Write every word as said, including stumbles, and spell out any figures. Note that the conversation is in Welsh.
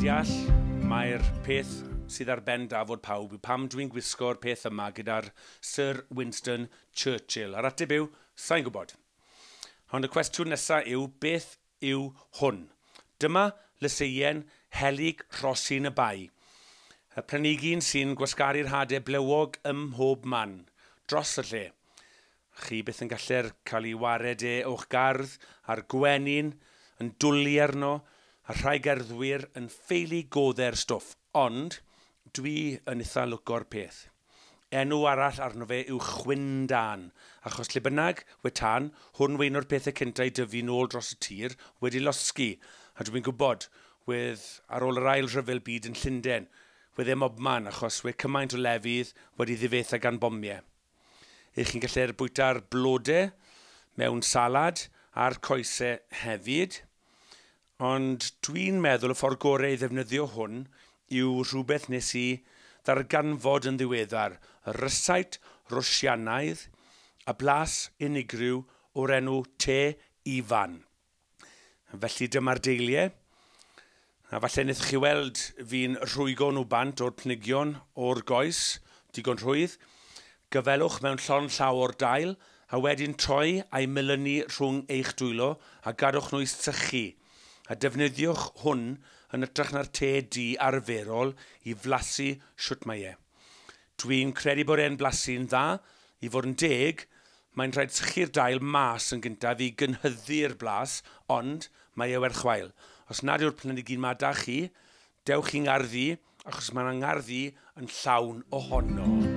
deall mae'r peth sydd ar ben dafod pawb yw pam dwi'n gwisgo'r peth yma gyda'r Sir Winston Churchill. A'r ateb yw, sa'n gwybod. Ond y cwestiwn nesaf yw, beth yw hwn? Dyma lyseien helyg rhosyn y bai. Y planhigyn sy'n gwasgaru'r hadau blewog ym mhob man, dros y lle. Chi byth yn gallu'r cael ei wared e o'ch gardd a'r gwenyn yn dwlu arno a rhai gerddwyr yn ffeili godde'r stwff. Ond dwi yn eitha lwco'r peth. Enw arall arno fe yw chwyn dân, achos lle bynnag we tân, hwn we un o'r pethau cyntaf i dyfu nôl dros y tir wedi losgi. A dwi'n gwybod, wedd ar ôl yr ail rhyfel byd yn Llundain, wedd e mobman achos we cymaint o lefydd wedi ddifetha gan bomiau. Ych chi'n gallu'r bwyta'r blodau mewn salad a'r coesau hefyd. Ond dwi'n meddwl y ffordd gorau i ddefnyddio hwn yw rhywbeth nes i ddarganfod yn ddiweddar, y rysait Rwsianaidd a blas unigryw o'r enw te Ifan. Felly dyma'r deiliau. A falle wnaethoch chi weld fi'n rhwygo nhw bant o'r pnigion o'r goes, digon rhwydd. Gyfelwch mewn llond llaw o'r dail, a wedyn troi a'i melynu rhwng eich dwylo a gadwch nhw i sychu. A defnyddiwch hwn yn hytrach na'r te du arferol i flasu shwt mae e. Dwi'n credu bod e'n blasu'n dda. I fod yn deg, mae'n rhaid sychu'r dail mas yn gyntaf i gynhyddu'r blas, ond mae e werth chweil. Os nad yw'r planhigyn ma da chi, dewch i'n ngardd i, achos mae'n ngardd i yn llawn ohono.